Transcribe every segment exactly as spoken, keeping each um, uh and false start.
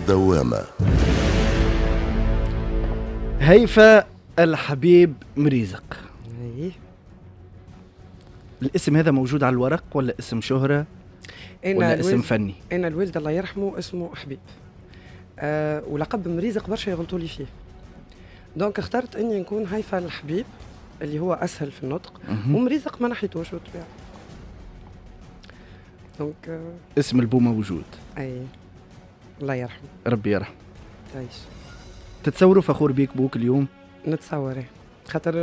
دوامة. هيفا الحبيب مريزق. ايه الاسم هذا موجود على الورق ولا اسم شهرة ولا اسم فني؟ انا الوالد الله يرحمه اسمه حبيب، أه ولقب مريزق برشا يغلطوا لي فيه، donc اخترت اني نكون هيفا الحبيب اللي هو اسهل في النطق، ومريزق ما نحيتوش بالطبيعة. donc آه اسم البو موجود. اي الله يرحمه. ربي يرحمه. تعيش. تتصوروا فخور بيك بوك اليوم؟ نتصور، خاطر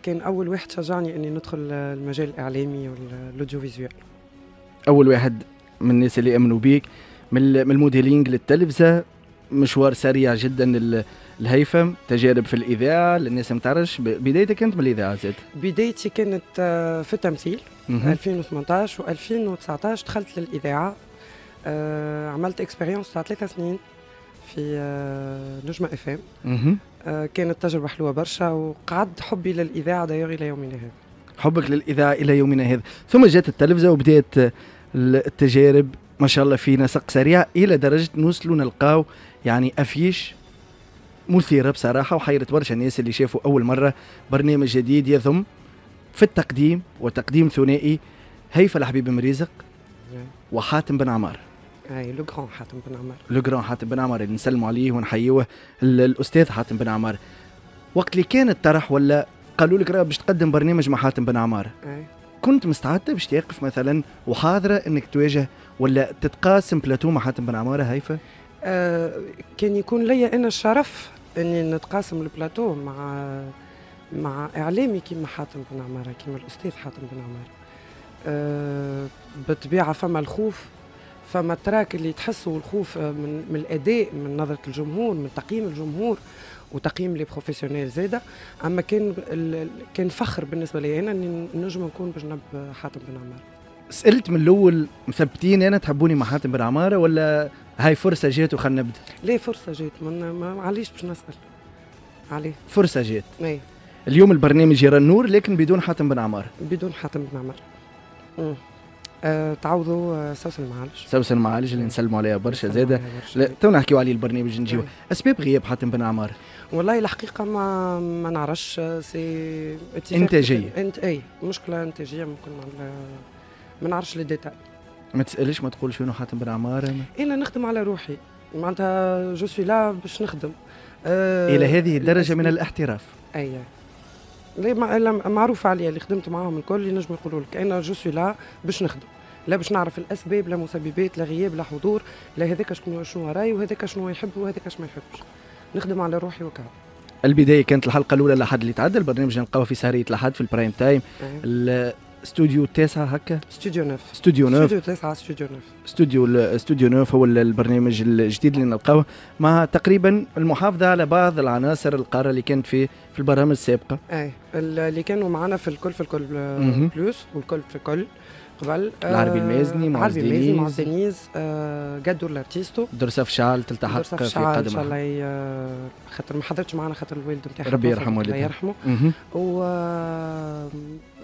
كان اول واحد شجعني اني ندخل المجال الاعلامي وال audiovisuel. اول واحد من الناس اللي امنوا بيك، من ال modeling للتلفزه، مشوار سريع جدا الهيفا، تجارب في الاذاعة للناس ما تعرفش. بدايتك كانت من الاذاعة زاد؟ بدايتي كانت في التمثيل ألفين وثمنطاش وألفين وتسعطاش دخلت للاذاعة، آه، عملت expérience تاع ثلاث سنين في آه، نجمه اف ام. آه، كانت تجربه حلوة برشا وقعد حبي للاذاعة d'ailleurs الى يومنا هذا. حبك للاذاعة الى يومنا هذا، ثم جات التلفزة وبدات التجارب ما شاء الله في نسق سريع الى درجه نوصلوا نلقاو يعني affiche مثيرة بصراحة وحيرت برشا الناس اللي شافوا اول مرة برنامج جديد يضم في التقديم وتقديم ثنائي هيفا الحبيب مريزق وحاتم بن عمار. اي le grand حاتم بن عمار. le grand حاتم بن عمار اللي نسلموا عليه ونحيوه، الاستاذ حاتم بن عمار. وقت اللي كان الطرح ولا قالوا لك راه باش تقدم برنامج مع حاتم بن عمار، أي. كنت مستعدة باش تقف مثلا وحاضره انك تواجه ولا تتقاسم بلاتو مع حاتم بن عمارة هيفا؟ آه كان يكون لي انا الشرف اني نتقاسم البلاتو مع مع اعلامي كيما حاتم بن عمارة، كيما الاستاذ حاتم بن عمارة. آه بالطبيعة فما الخوف، فما ال trac اللي تحسه الخوف من, من الاداء، من نظره الجمهور، من تقييم الجمهور وتقييم les professionnels زاده. اما كان كان فخر بالنسبة لي انا اني نجم نكون بجنب حاتم بن عمارة. سالت من الاول مثبتين انا تحبوني مع حاتم بن عمارة ولا هاي فرصة جات وخلنا نبدا؟ لا فرصة جات، ما علاش باش نسال عليه؟ فرصة جات. اي. اليوم البرنامج يرى النور لكن بدون حاتم بن عمارة. بدون حاتم بن عمارة. أه تعوضوا آه، سوسن المعالج. سوسن المعالج اللي نسلموا عليها برشا زاده، تو نحكيو عليه البرنامج نجيو. اسباب غياب حاتم بن عمار؟ والله الحقيقة ما ما نعرفش، c'est انتاجيه. انت اي مشكلة انتاجية ممكن، ما نعرفش les détails. ما تسالش ما تقولش وينو حاتم بن عمار؟ انا نخدم على روحي، معناتها je suis là باش نخدم. أه الى هذه الدرجة من الاحتراف؟ اي لا معروف عليا، اللي خدمت معاهم الكل ينجموا يقولوا لك انا je suis là باش نخدم، لا باش نعرف الاسباب، لا مسببات، لا غياب، لا حضور، لا هذاك شنو شنو راي وهذاك شنو يحب وهذاك ما يحبش. نخدم على روحي وكهو. البداية كانت الحلقة الاولى لحد اللي تعدى، البرنامج نلقاوه في سهريه لحد في ال prime time، استوديو تسعة هكا؟ استوديو neuf. استوديو neuf. استوديو تسعة، استوديو neuf. استوديو استوديو neuf هو البرنامج الجديد اللي نلقاوه مع تقريبا المحافظة على بعض العناصر القارة اللي كانت في في البرامج السابقة. اي اللي كانوا معنا في الكل في الكل plus والكل في الكل قبل. العربي المازني. معز العربي المازني، معز دينيز، آه قدور الارتيستو. درساف شعال تلتحق في قادم ان شاء الله، خاطر ما حضرتش معنا خاطر الوالد نتاعها. ربي يرحمه. الله يرحمه. و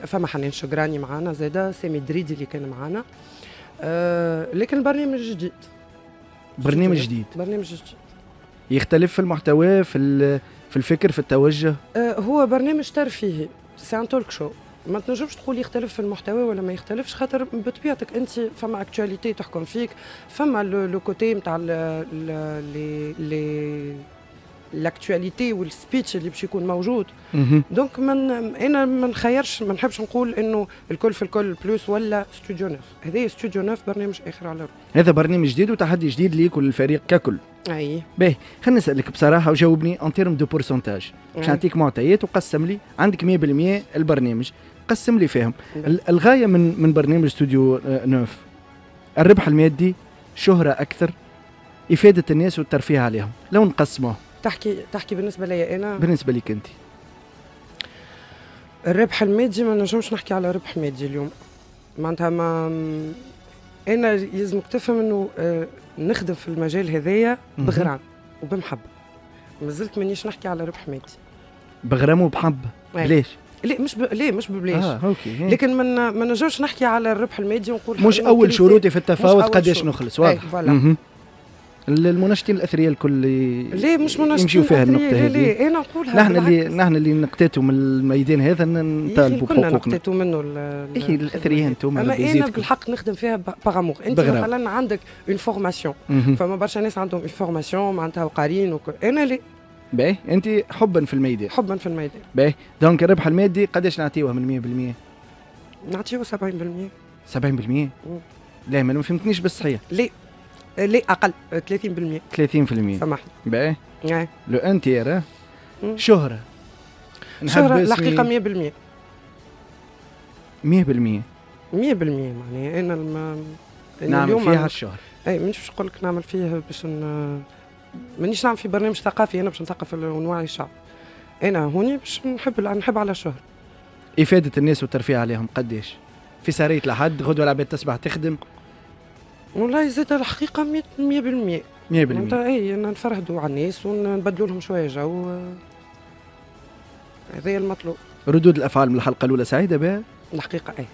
فما حنان شقراني معنا زاده، سامي دريدي اللي كان معنا، آه لكن البرنامج جديد. برنامج جديد. برنامج جديد. يختلف في المحتوى، في في الفكر، في التوجه؟ آه هو برنامج ترفيهي، c'est un talk show. ما تنجمش تقول يختلف في المحتوى ولا ما يختلفش، خاطر بطبيعتك انت فما actualité تحكم فيك، فما le côté نتاع les les l'actualité وال speech اللي باش يكون موجود. donc من انا ما نخيرش، ما نحبش نقول انه الكل في الكل plus ولا studio neuf. هذا studio neuf برنامج اخر على روحه. هذا برنامج جديد وتحدي جديد ليك وللفريق ككل. اي. باهي، خلينا نسالك بصراحة وجاوبني en termes de pourcentage، باش نعطيك معطيات وقسم لي عندك مية بالمية البرنامج، قسم لي فيهم الغاية من من برنامج studio neuf: الربح المادي، شهره اكثر، افاده الناس والترفيه عليهم، لو نقسموه. تحكي تحكي بالنسبة لي انا؟ بالنسبة لك انت. الربح المادي ما نجمش نحكي على ربح مادي اليوم، معناتها ما انا يلزمك تفهم انه آه، نخدم في المجال هذايا بغرام وبمحبه، مازلت مانيش نحكي على ربح مادي. بغرام وبحبه، ليش؟ لا مش ب... ليه مش ببلاش. اه OK. لكن من ما نجمش نحكي على الربح المادي ونقول مش اول شروطي في التفاوض قداش نخلص، واضح. voilà. المنشطين الاثرياء الكل ليه مش منشطين يمشيو فيها النقطة هذه؟ ليه انا نقولها، نحن اللي نحن اللي نقتاتوا من الميدان هذا نطالبوا بحقوقنا. كنا نقتاتوا منه اي الاثرياء انتم. اما انا بالحق نخدم فيها par amour. انت مثلا عندك une formation، فما برشا ناس عندهم une formation معناتها وقارين وك... انا ليه باهي انت حبا في الميدان. حبا في الميدان. باهي donc الربح المادي قداش نعطيوه من مية بالمية؟ نعطيوه سبعين بالمية. سبعين بالمية؟ لا ما فهمتنيش بالصحيح. ليه ليه اقل ثلاثين بالمية. ثلاثين بالمية سامحني. باهي le un tiers. شهرة. شهرة الحقيقة مية بالمية. مية بالمية. مية بالمية معناها انا الم... نعمل فيها الشهرة. اي مانيش باش نقول لك نعمل فيه باش ن... مانيش نعمل في برنامج ثقافي انا باش نثقف ونوعي الشعب. انا هوني باش نحب نحب على الشهرة. إفادة الناس والترفيه عليهم قداش؟ في سهرية لحد غدوة العباد تصبح تخدم. والله زاد الحقيقة مية بالمية. مية بالمية. اي نفرهدوا على الناس ونبدلوا لهم شوية جو. هذا المطلوب. ردود الأفعال من الحلقة الأولى سعيدة بها؟ الحقيقة اي.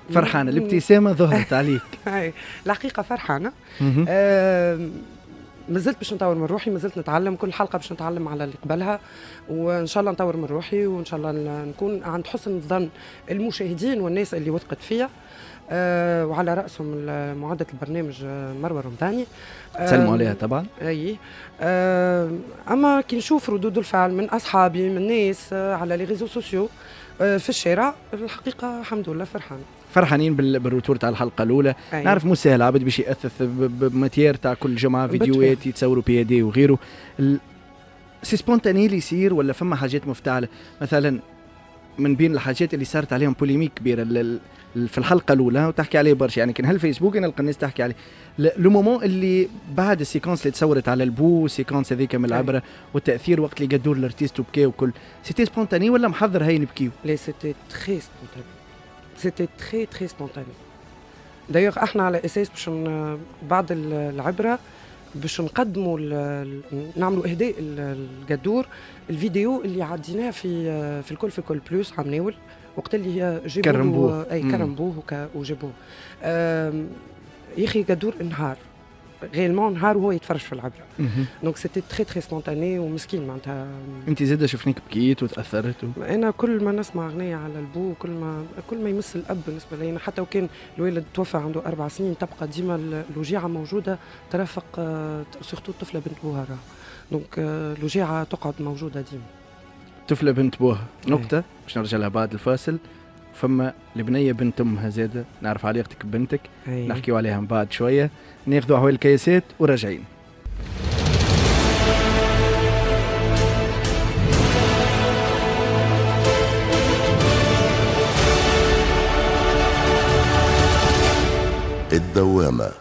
فرحانة، الابتسامة ظهرت عليك. اي الحقيقة فرحانة. آه مازلت باش نطور من روحي، مازلت نتعلم كل حلقة باش نتعلم على اللي قبلها، وان شاء الله نطور من روحي وان شاء الله نكون عند حسن ظن المشاهدين والناس اللي وثقت فيا. أه وعلى راسهم معدة البرنامج مروه رمضاني. تسلموا عليها طبعا. اي أه اما كي نشوف ردود الفعل من اصحابي من ناس على les réseaux sociaux في الشارع، الحقيقة الحمد لله فرحانة. فرحانين بال retour تاع الحلقة الاولى. أيه. نعرف مو سهل عبد باش ياثث ب matière تاع كل جمعه فيديوهات يتصوروا بي دي وغيره. c'est spontané اللي يصير ولا فما حاجات مفتعله؟ مثلا من بين الحاجات اللي صارت عليهم polémique كبيرة في الحلقة الاولى وتحكي عليه برشا، يعني كان هالفيسبوك انا نلقى الناس تحكي عليه le moment اللي بعد ال séquence اللي تصورت على البو، séquence هذيك من العبرة والتاثير وقت اللي قدور l'artiste وبكاو وكل، c'était spontané ولا محضر هاي نبكيو؟ لا c'était très spontané، c'était très très spontané. d'ailleurs احنا على اساس باش بعد العبرة باش نقدموا نعملوا اهداء القدور الفيديو اللي عديناه في في الكل في الكل plus عام ناول وقت اللي جابوه كرمبوه. اي كرمبوه وجابوه. يا اخي قدور انهار réellement نهار وهو يتفرج في العبرة. donc c'était très très spontané ومسكين معناتها. انت زاده شفناك بكيت وتاثرت و... انا كل ما نسمع اغنية على البو كل ما كل ما يمس الاب بالنسبة لي، حتى وكان الوالد توفى عنده اربع سنين تبقى ديما الوجيعه موجودة ترافق surtout الطفلة بنت بوها راه. donc الوجيعه تقعد موجودة ديما. طفله بنت بوها نقطة باش نرجع لها بعد الفاصل. فما البنية بنت امها زاده، نعرف علاقتك ببنتك. أيه. نحكيو عليها من بعد شوية، ناخذوا احوال الكياسات وراجعين. الدوامة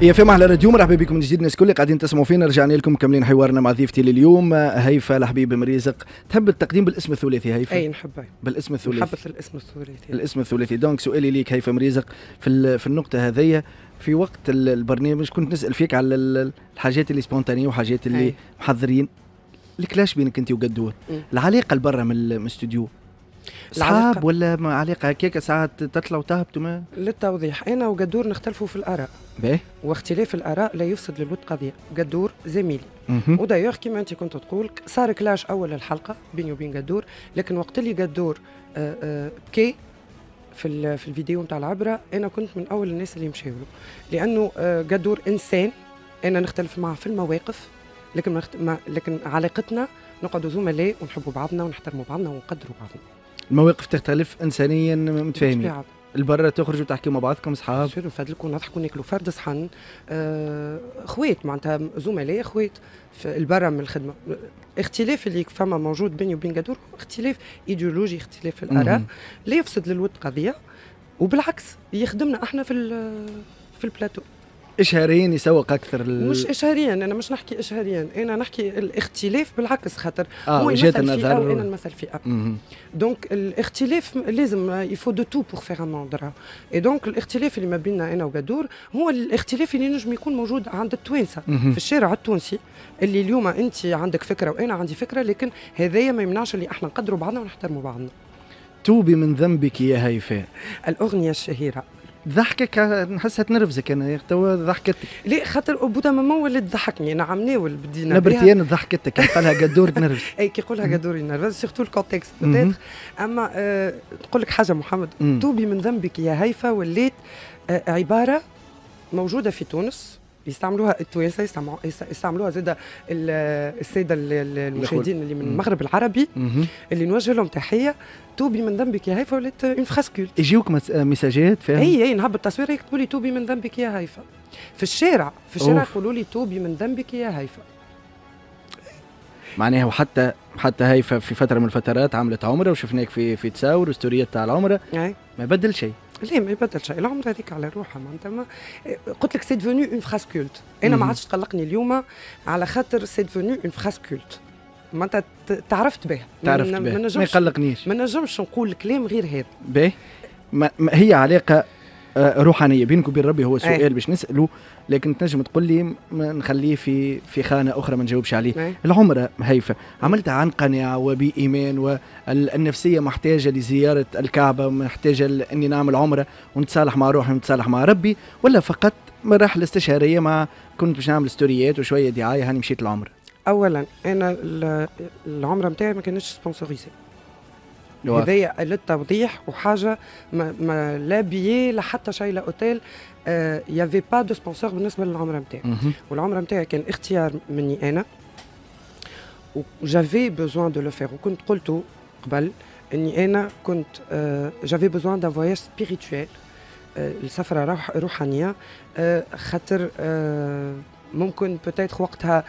يا فما على راديو. مرحبا بكم من جديد الناس الكل قاعدين تسمعوا فينا. رجعنا لكم مكملين حوارنا مع ضيفتي لليوم هيفا الحبيب مريزق. تحب التقديم بالاسم الثلاثي هيفا؟ اي نحبه بالاسم الثلاثي. نحب الاسم الثلاثي. الاسم الثلاثي. donc سؤالي ليك هيفا مريزق في في النقطة هذيا، في وقت البرنامج كنت نسال فيك على الحاجات اللي spontanées وحاجات اللي أي. محضرين. ال clash بينك انت وقدور، العلاقة البرة من الاستوديو صعب ولا علاقة هكاك ساعات تطلع وتهبط؟ ما للتوضيح انا وقدور نختلفوا في الاراء. باهي. واختلاف الاراء لا يفسد للود قضية. قدور زميلي و d'ailleurs كيما انت كنت تقول صار clash اول الحلقة بيني وبين قدور، لكن وقت اللي قدور بكي في في الفيديو نتاع العبرة انا كنت من اول الناس اللي مشاو له، لانه قدور انسان انا نختلف معه في المواقف، لكن ما لكن علاقتنا نقعدوا زملاء ونحبوا بعضنا ونحترموا بعضنا ونقدروا بعضنا. المواقف تختلف انسانيا متفاهمين. البرة تخرجوا تحكيوا مع بعضكم اصحاب، نصيروا نفدلكوا نضحكوا ناكلوا فرد صحن، آه، خوات معناتها زملاء خوات في البرة من الخدمة. اختلاف اللي فما موجود بيني وبين قدور اختلاف ايديولوجي، اختلاف في الاراء لا يفسد للود قضية، وبالعكس يخدمنا احنا في في البلاتو. اشهاريا يسوق اكثر ال... مش اشهاريا، انا مش نحكي اشهاريا، انا نحكي الاختلاف بالعكس، خاطر آه هو يمثل فئة وانا نمثل فئة. donc الاختلاف لازم il faut de tout pour faire un monde. et donc الاختلاف اللي ما بيننا انا وقدور هو الاختلاف اللي نجم يكون موجود عند التوانسة في الشارع التونسي، اللي اليوم انت عندك فكرة وانا عندي فكرة، لكن هذايا ما يمنعش اللي احنا نقدروا بعضنا ونحترموا بعضنا. توبي من ذنبك يا هيفاء، الاغنية الشهيرة. ضحكك نحسها تنرفزك انا توا ضحكتك. لا خاطر au bout d'un moment ولات تضحكني انا عمناول بدينا نبرتي انا ضحكتك قالها قدور تنرفز. اي كي يقولها قدور ينرفز surtout ال contexte peut-être. اما أه نقول لك حاجة محمد، توبي من ذنبك يا هيفا وليت أه عبارة موجودة في تونس يستعملوها التوانسة، يستعملوها زاده السادة المشاهدين اللي من المغرب العربي اللي نوجه لهم تحية. توبي من ذنبك يا هيفا ولات une phrase culte. يجيوك messages فيها؟ اي اي نهبط تصويره يكتبوا لي توبي من ذنبك يا هيفا في الشارع، في الشارع يقولوا لي توبي من ذنبك يا هيفا. معناها وحتى حتى هيفا في فترة من الفترات عملت عمره وشفناك في في تصاور وستوريات تاع العمرة، ما بدل شيء. لا ما يبدل شيء، العمرة هذيك على روحها معناتها. ما قلت لك c'est devenu une phrase culte. انا ما عادش تقلقني اليوم على خاطر c'est devenu une phrase culte، معناتها تعرفت بها. تعرفت بها، ما يقلقنيش، ما نجمش نقول كلام غير هذا. باهي، هي علاقة روحانية بينك وبين ربي، هو سؤال باش نساله، لكن تنجم تقول لي نخليه في في خانه اخرى ما نجاوبش عليه. أي. العمرة هيفا عملتها عن قناعة وبايمان، والنفسية محتاجه لزيارة الكعبة، محتاجه اني نعمل عمره ونتصالح مع روحي ونتصالح مع ربي، ولا فقط رحله استشهاريه مع كنت باش نعمل ستوريات وشوية دعاية هاني مشيت العمرة؟ اولا انا العمرة نتاعي ما كانتش sponsorisée، هذايا للتوضيح، وحاجه ما, ما لا billet لا حتى شيء لا hôtel، y avait pas de sponsor بالنسبة للعمرة نتاعي. والعمرة نتاعي كان اختيار مني انا، و j'avais besoin de le faire، وكنت قلت قبل اني انا كنت j'avais besoin d'un voyage spirituel، السفرة روح روحانية، آه خاطر آه ممكن peut-être وقتها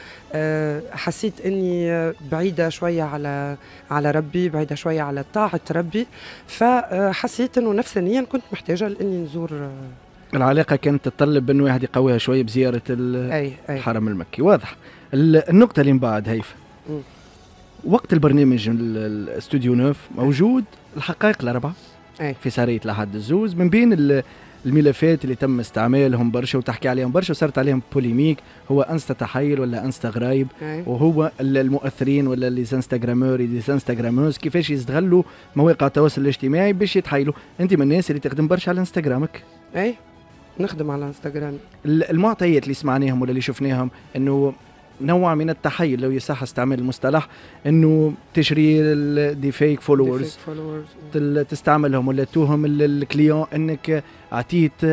حسيت اني بعيدة شوية على على ربي، بعيدة شوية على طاعة ربي، فحسيت انه نفسانيا كنت محتاجه لاني نزور. العلاقة كانت تتطلب انه واحد يقويها شوية بزيارة أي أي. الحرم المكي. واضح. النقطة اللي من بعد هيفا، وقت البرنامج الاستوديو neuf موجود الحقائق الاربعة أي. في سهريه الأحد الزوز، من بين الملفات اللي تم استعمالهم برشا وتحكي عليهم برشا وصارت عليهم polémique، هو انستا تحيل ولا انستا غرايب، وهو المؤثرين ولا les instagrameurs les instagrameuses كيفاش يستغلوا مواقع التواصل الاجتماعي باش يتحايلوا. انت من الناس اللي تخدم برشا على انستغرامك. اي نخدم على انستغرام. المعطيات اللي سمعناهم ولا اللي شفناهم انه نوع من التحيل لو يصح استعمال المصطلح، انه تشري des fake followers تستعملهم ولا توهم ال client انك عطيت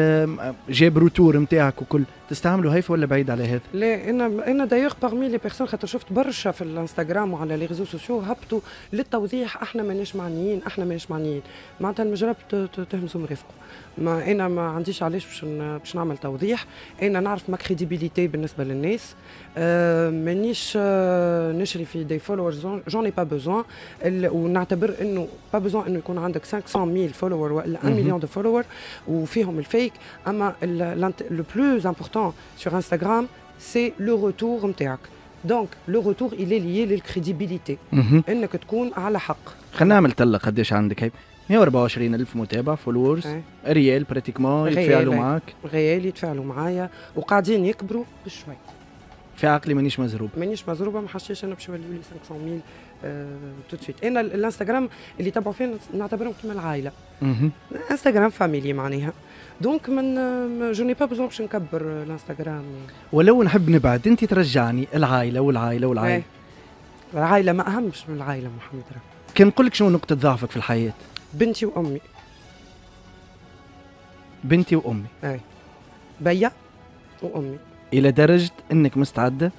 جاب retour نتاعك وكل، تستعملوا هيفا ولا بعيد على هذا؟ لا انا انا d'ailleurs parmi les personnes، خاطر شفت برشا في الانستغرام وعلى les réseaux sociaux هبطوا للتوضيح احنا ماناش معنيين، احنا ماناش معنيين، معناتها المجرب تهمزوا مرافقة. ما انا ما عنديش علاش باش باش نعمل توضيح، انا نعرف ma crédibilité بالنسبة للناس، أه مانيش أه نشري في des followers، j'en ai pas besoin، ونعتبر انه pas besoin انه يكون عندك خمسمية ألف follower ولا واحد مليون de followers وفيهم ال fake. اما le plus important sur Instagram c'est le retour نتاعك، donc le retour il est lié لل crédibilité، انك تكون على حق. خلينا نعمل طلة قداش عندك هاي؟ مية وأربعة وعشرين ألف متابع followers réels pratiquement يتفاعلوا معاك، réels يتفاعلوا معايا وقاعدين يكبروا بشوي. في عقلي مانيش مزروب، مانيش مزروبه، ما حشيش انا باش يوليو لي خمسمية ألف tout de suite. انا الانستغرام اللي تبعوا فيه نعتبرهم كيما العائلة، انستغرام famille معناها، donc من je n'ai pas besoin باش نكبر الانستغرام. ولو نحب نبعد انت ترجعني العائلة والعائلة والعائلة. العائلة ما اهمش من العائلة محمد. كان نقول لك شنو نقطة ضعفك في الحياة؟ بنتي وامي. بنتي وامي. اي بيا وامي. الى درجه انك مستعدة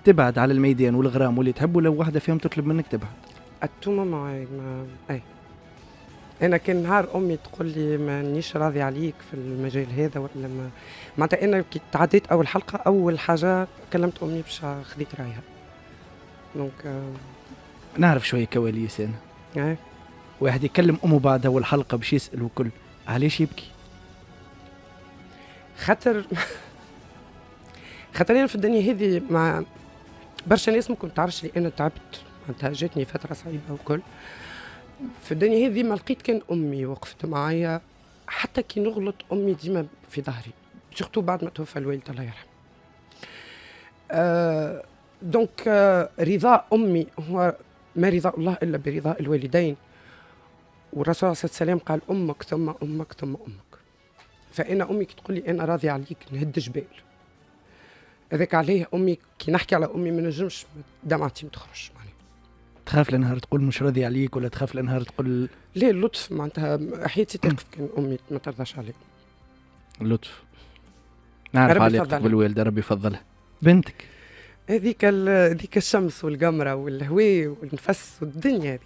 تبعد على الميدان والغرام واللي تحبه لو واحدة فيهم تطلب منك تبعد؟ التومه معي ما... اي انا كان نهار امي تقول لي مانيش راضي عليك في المجال هذا ولا ما معناتها، انا كي تعديت اول حلقة اول حاجة كلمت امي باش خذيت رايها. donc نعرف شوية كواليس انا. اي واحد يكلم امه بعد اول حلقة باش يسال وكل، علاش يبكي؟ خاطر خاطر انا في الدنيا هذه مع برشا ناس ممكن تعرفش لي انا تعبت، معناتها جاتني فترة صعيبة وكل. في الدنيا هذه ما لقيت كان امي وقفت معايا، حتى كي نغلط امي ديما في ظهري، surtout بعد ما توفى الوالد الله يرحمه. أه donc أه رضاء امي هو ما رضاء الله الا برضاء الوالدين، والرسول عليه الصلاة والسلام قال امك ثم امك ثم امك. فانا امي كي تقول لي انا راضية عليك نهد جبال. هذاك عليه امي كي نحكي على امي ما نجمش دمعتي ما تخرجش معناها. تخاف لنهار تقول مش راضي عليك ولا تخاف لنهار تقول لا؟ اللطف معناتها حياتي تقف كان امي ما ترضاش علي. اللطف. نعرف علاقتك بالوالده، ربي يفضلها. بنتك هذيك هذيك الشمس والقمره والهواء والنفس والدنيا هذيك.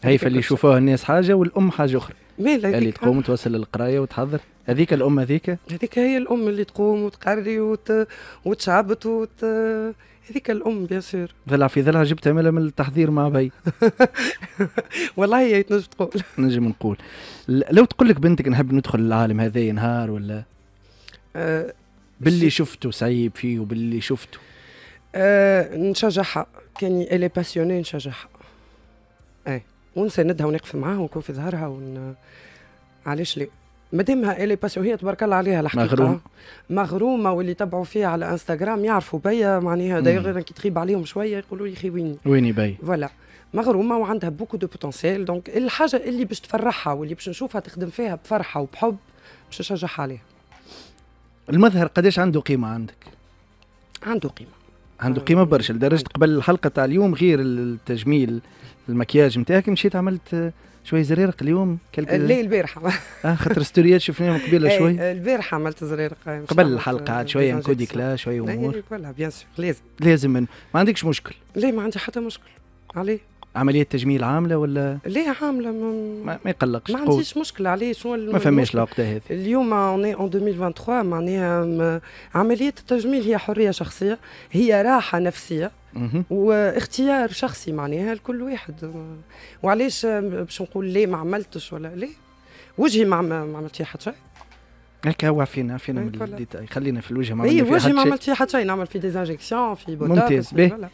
هيفا اللي يشوفوها الناس حاجة والام حاجة اخرى. اللي تقوم توصل للقرايه وتحضر، هذيك الام هذيك هذيك هي الام اللي تقوم وتقري وت... وتشعبط وت... هذيك الام bien sûr. ضلع في ضلع جبتها مالا من التحضير مع بي. والله هي تنجم تقول. نجم نقول. لو تقول لك بنتك نحب ندخل العالم هذا نهار ولا أه باللي شفته صعيب فيه وباللي شفته أه نشجعها، كان elle est passionnée نشجعها. اي ونساندها ونقف معاها ونكون في ظهرها ون... علاش لا؟ مادامها elle est passionnée، هي تبارك الله عليها الحقيقة مغروم. مغرومه، واللي تبعوا فيها على انستغرام يعرفوا بيا معناها، d'ailleurs كي تغيب عليهم شوية يقولوا لي خي ويني ويني بي voilà. مغرومه وعندها beaucoup de potentiel، donc الحاجة اللي باش تفرحها واللي باش نشوفها تخدم فيها بفرحة وبحب باش نشجعها عليها. المظهر قداش عنده قيمة عندك؟ عنده قيمة، عنده قيمة برشا، لدرجة قبل الحلقة تاع اليوم غير التجميل المكياج نتاعك مشيت عملت شوية زريرق اليوم. لا البارحة اه خاطر ستوريات شفناهم قبيلة شوي. البارحة عملت زريرق قبل الحلقة عاد شوية نكودي كلا شوية امور. voilà bien sûr لازم لازم من. ما عندكش مشكل؟ لا ما عندي حتى مشكل. عليه عملية تجميل عامله ولا؟ لا عامله ما, ما, ما يقلقش. ما عنديش مشكلة. عليه شنو ما فماش العقدة هذه اليوم on est en ألفين وثلاثة وعشرين معناها عملية التجميل هي حرية شخصية، هي راحة نفسية واختيار شخصي معناها لكل واحد. وعلاش باش نقول ليه ما عملتش ولا ليه وجهي ما ما عملت فيه حتى شيء. هكا هو عفينا عفينا من ال détail، خلينا في الوجه ما عملنا فيه حتى شيء. وجهي ما عملت فيه حتى شيء، نعمل في des injections في بوتوكس. ممتاز. به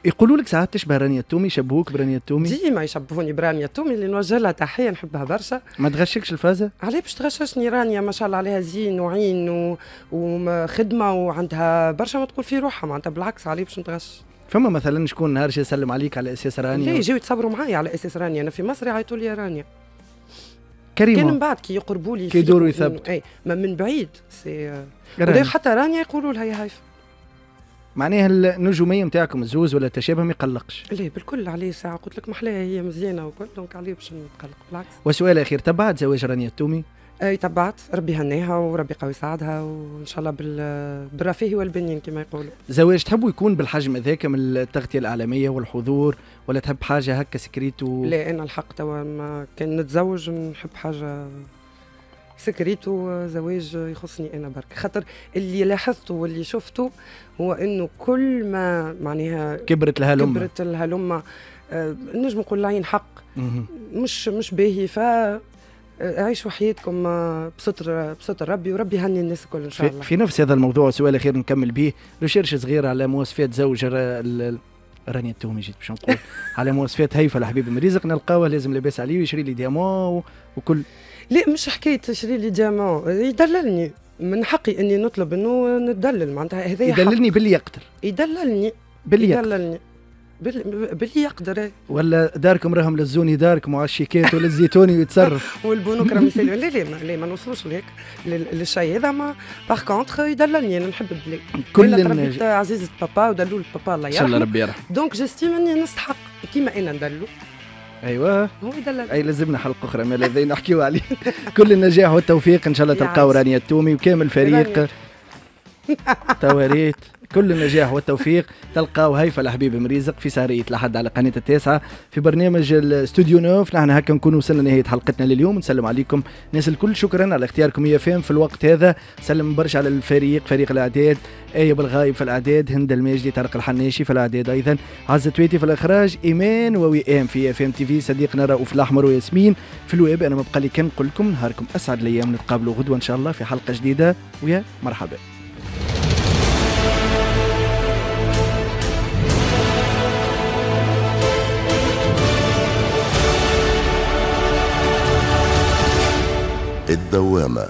يقولوا لك ساعات تشبه رانيا التومي، يشبهوك برانيا التومي؟ ديما يشبهوني برانيا التومي اللي نوجه لها تحية نحبها برشا. ما تغشكش الفازة؟ عليه باش تغششني رانيا ما شاء الله عليها زين وعين و... وخدمه وعندها برشا ما تقول في روحها معناتها، بالعكس عليه باش نتغش. فما مثلا شكون نهار يسلم عليك على اساس رانيا؟ لا يجيو يتصبروا معايا على اساس رانيا، انا في مصر يعيطوا لي رانيا. كريمة كان من بعد كي يقربوا لي كي يدوروا يثبتوا اي ما من بعيد c'est حتى رانيا يقولوا لها يا هايفا. معناها النجومية نتاعكم الزوز ولا التشابه ما يقلقش؟ لا بالكل عليه ساعة قلت لك محلاها هي مزيانه وكل، donc عليه باش نتقلق بالعكس. وسؤال اخير، تبعت زواج رانيا التومي؟ اي تبعت، ربي يهنيها وربي يقوي سعدها وان شاء الله بالرفاه والبنين كما يقولوا. زواج تحبوا يكون بالحجم هذاك من التغطية الاعلامية والحضور ولا تحب حاجة هكا secrète و... لا انا الحق توا ما كان نتزوج نحب حاجة secrète وزواج يخصني انا برك، خاطر اللي لاحظته واللي شفته هو انه كل ما معناها كبرت الهلمه كبرت الهلمه آه نجم نقول العين حق مش مش باهي، ف عيشوا حياتكم بستر بستر ربي وربي يهني الناس الكل ان شاء الله. في نفس هذا الموضوع سؤال اخير نكمل به، recherche صغيرة على مواصفات زوج رانيا التومي جيت باش نقول على مواصفات هيفا الحبيب مريزق نلقاوه لازم لاباس عليه ويشري لي diamant وكل. لا مش حكاية تشري لي diamant، يدللني، من حقي اني نطلب انه نتدلل معناتها هذا يدللني باللي يقدر. يدللني باللي يقدر. يدللني باللي يقدر. ولا داركم راهم للزوني داركم وعلى الشيكات ولا الزيتوني ويتصرف والبنوك راهم يسالوا. لا لا لا ما نوصلوش لهيك للشيء هذا. ما par contre يدللني انا نحب الدلال. كل تربيت عزيزة بابا ودلول بابا الله يرحمه. ان شاء الله ربي يرحمه. donc j'estime اني نستحق كيما انا ندلو. ايوه هو يدلل. اي لازمنا حلقة اخرى ما لذي نحكيو عليه. كل النجاح والتوفيق ان شاء الله تلقاو رانيا التومي وكامل فريق تواريت. كل النجاح والتوفيق تلقاو هيفا الحبيب مريزق في سهرية الأحد على قناة التاسعة في برنامج الاستوديو neuf. نحن هكا نكون وصلنا لنهاية حلقتنا لليوم. نسلم عليكم الناس الكل، شكرا على اختياركم IFM في الوقت هذا. سلم برشا على الفريق، فريق الإعداد آية بالغايب في الإعداد، هند الماجدي، طارق الحناشي في الإعداد أيضا، عزة تويتي في الإخراج، إيمان ووئام في IFM TV، صديقنا رؤوف الأحمر وياسمين في الويب. أنا ما بقى لي كان نقول لكم نهاركم أسعد الأيام، نتقابلوا غدوة إن شاء الله في حلقة جديدة ويا مرحبا. الدوامة.